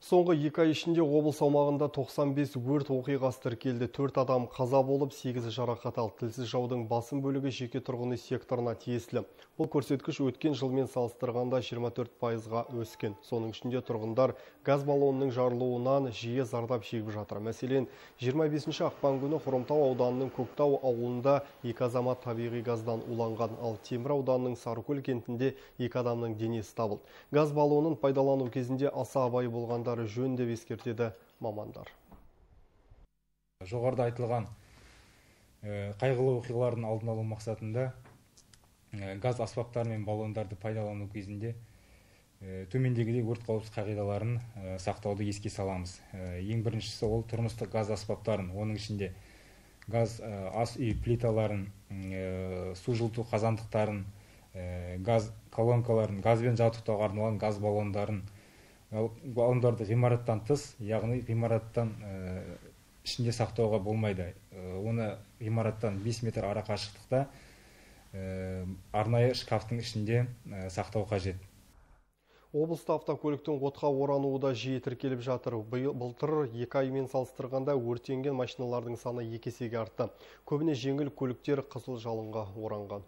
Соңғы 2 ай ішінде облыс аумағында 95 өрт оқиғасы тіркелді. 4 адам қаза болып, 8 жарақат алды. Тілсіз жаудың басым бөлігі жеке тұрғын үй секторына тиесілі. Бұл көрсеткіш өткен жылмен салыстырғанда 24%-ға өскен. Соның ішінде тұрғындар газ баллонының жарылуынан жиі зардап шегіп жатыр. Мәселен, 25 ақпан күні Хромтау ауданының Көктау ауылында 2 азамат табиғи газдан уланған, ал Темір ауданының Сарыкөл кентінде 2 адамның денесі табылды. Газ баллонын пайдалану кезінде аса абай болғандар жөн деп ескертеді мамандар. Жоғарыда айтылған қайғылы оқиғалардың алдын алу мақсатында газ аспаптары мен баллондарды пайдалану кезінде төмендегідей өрт қауіпсіздік қағидаларын сақтауды еске саламыз. Ең біріншісі ол тұрмыстық газ аспаптарын, оның ішінде газ ас үй плиталарын, су жылыту қазандықтарын, газ колонкаларын, газбен жабдықтауға арналған газ баллондарды ғимараттан тыс, яғни ғимараттан ішінде сақтауға болмайды. Оны ғимараттан 5 метр ара қашықтықта арнайы шкафтың ішінде сақтау қажет. Облыста автокөліктің отқа орануы да жиі тіркеліп жатыр. Былтыр 2 аймен салыстырғанда өртенген машиналардың саны 2 есеге артты. Көбіне жеңіл көліктер қызыл жалынға оранған.